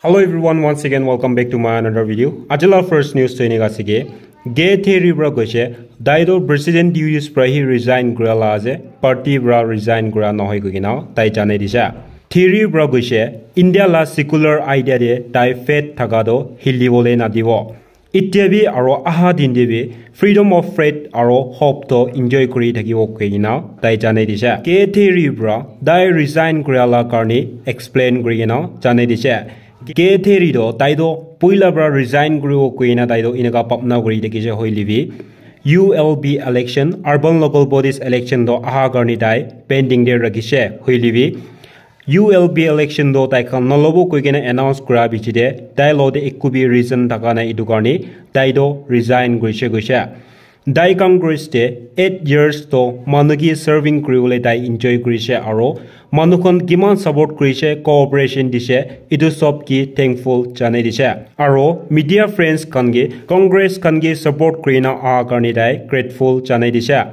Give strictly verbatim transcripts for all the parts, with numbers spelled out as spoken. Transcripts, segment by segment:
Hello everyone, once again welcome back to my another video. Ajila first news to enika ase ki Gay Theory pra koise, tai toh president duties pra hi resign kura la ase, party pra resign kura nohoi koikena tai janai dise. Theory pra koise, India la secular idea te tai faith thaka toh hilibole nadibo. Itya bi aro aha din te bi freedom of faith aro hope toh enjoy kuri thakibo koikena tai janai dise. Gay Theory pra tai resign kura la karne explain kurikena janai dise. Gay Theory toh tai toh puila pra resign kuribo koikena tai toh enika bhabna kuri thakise hoile bi U L B election, urban local bodies election toh aha karne tai pending te rakhise hoile bi U L B election toh tai khan nalobo koikena announce kura bichi te tai lo te ekku bi reason thaka nai, etu karne tai toh resign kurise koise. Tai Congress te eight years toh manu ki serving kuribole tai enjoy kurise aro manu khan kiman support kurise, cooperation dise, etu sob ki thankful janai dise. Aro media friends khan ki Congress khan ki support kurina aha karne tai grateful janai dise.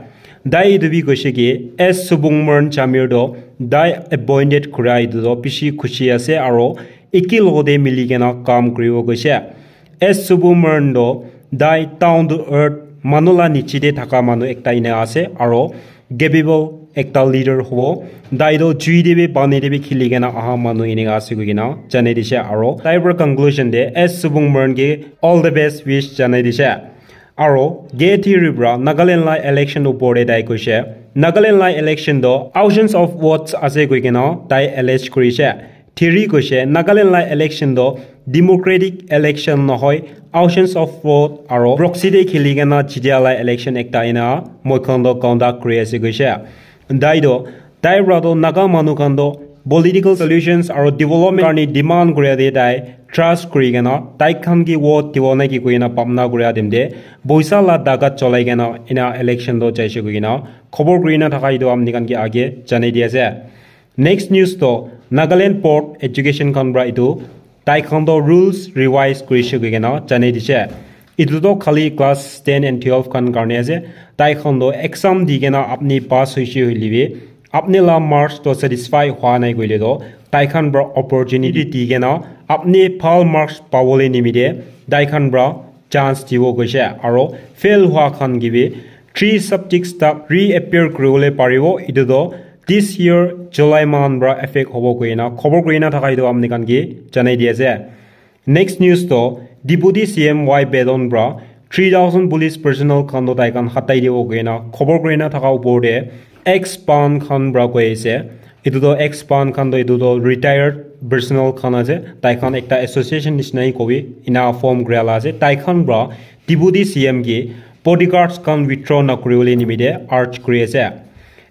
Tai etu bi koise ki S Subramanian Jamir toh tai appointed kura etu toh bishi khushi ase aro eki logote mili kena kam kuribo koise. S Subramanian toh tai down to earth manu la niche te thaka manu ekta ena ase aro capable ekta leader hobo. Tai toh jui te bi pani te bi khili kena aha manu enika ase koikena janai dise aro tai pra conclusion te S Subramanian ke all the best wish janai dise. Aro Gay Theory pra Nagaland la election upor te tai koise, Nagaland la election toh auctions of votes ase koikena tai allege kurise. Theory koise Nagaland la election toh democratic election nohoi, auctions of vote aro proxy te khili kena jitia la election ekta ena moi khan toh conduct kuri ase koise. Tai toh tai pra toh Naga manu khan toh political solutions aro development karne demand kuria te tai trust kuri kena tai khan ki vote dibo na ki koikena bhabna kuria time te poisa la dagat cholai kena ena election toh jaise koikena khobor kurina thaka etu apni khan ki age janai di ase. Next news toh Nagaland Board Education khan pra etu tai khan toh rules revise kurise koikena janai dise. Etu toh khali class ten and twelve khan karne ase. Tai khan toh exam di kena apni pass hoise hoile bi apni la marks toh satisfy hwa nai koile toh tai khan pra opportunity di kena apni bhal marks pabole nimite tai khan pra chance dibo koise aro fail hwa khan ki bi three subjects tak reappear kuribole paribo. Etu toh this year July month pra effect hobo koikena khobor kurina thaka etu apni khan ki janai di ase. Next news toh Deputy C M Y Bedon pra three thousand police personnel khan toh tai khan hatai dibo koikena khobor kurina thaka upor te ex pan khan pra koi ase. Etu toh ex pan khan toh etu toh retired personnel khan ase, tai khan ekta association nishina hi kobi ena form kuria la ase. Tai khan pra Deputy C M ki bodyguards khan withdraw na kuribole nimite urge kuri ase.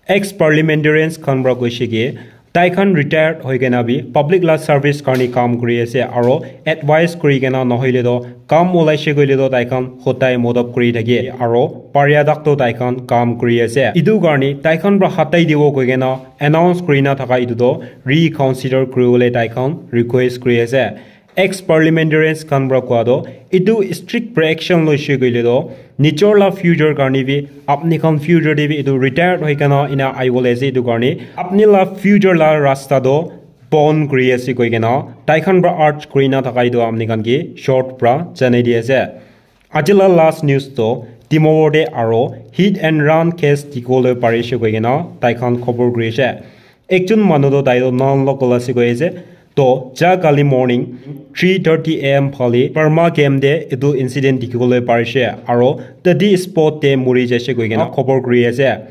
Ex parliamentarians khan pra koise ki tai khan retired hoi kena bi public la service karne kam kuri ase aro advice kuri kena nohoile toh kam olaise koile toh tai khan hodai modop kuri thake aro paria tak toh tai khan kam kuri ase. Etu karne tai khan pra hatai dibo koikena announce kurina thaka etu toh reconsider kuribole tai khan request kuri ase. Ex parliamentarians khan pra koa toh etu strict pra action loise koile toh nijor la future karne bi apni khan future te bi etu retired hoi kena ena aibole ase. Etu karne apni la future la rasta toh bon kuri ase koikena tai khan pra urge kurina thaka etu apni khan ki short pra janai di ase. Aji la last news toh Timor te aro hit and run case dikhiwole parise koikena tai khan khobor kuri ase. Ekjon manu toh tai toh non local ase koi ase. Toh ja kali morning three thirty A M phale Burma camp te etu incident dikhiwole parise aro tate spot te mori jaise koikena khobor kuri ase.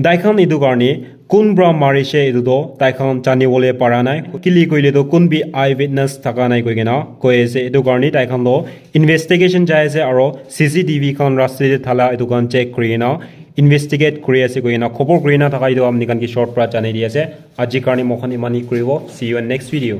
Tai khan etu karne kun pra marise etu toh tai khan janibole para nai. Kile koile toh kun bi eye witness thaka nai koikena koi ase. Etu karne tai khan toh investigation jai ase aro C C T V khan rasta te thala etu khan check kurikena investigate kuri ase koikena khobor kurina thaka etu apni khan ki short pra janai di ase. Aji karne moi khan imani kuribo. See you in next video.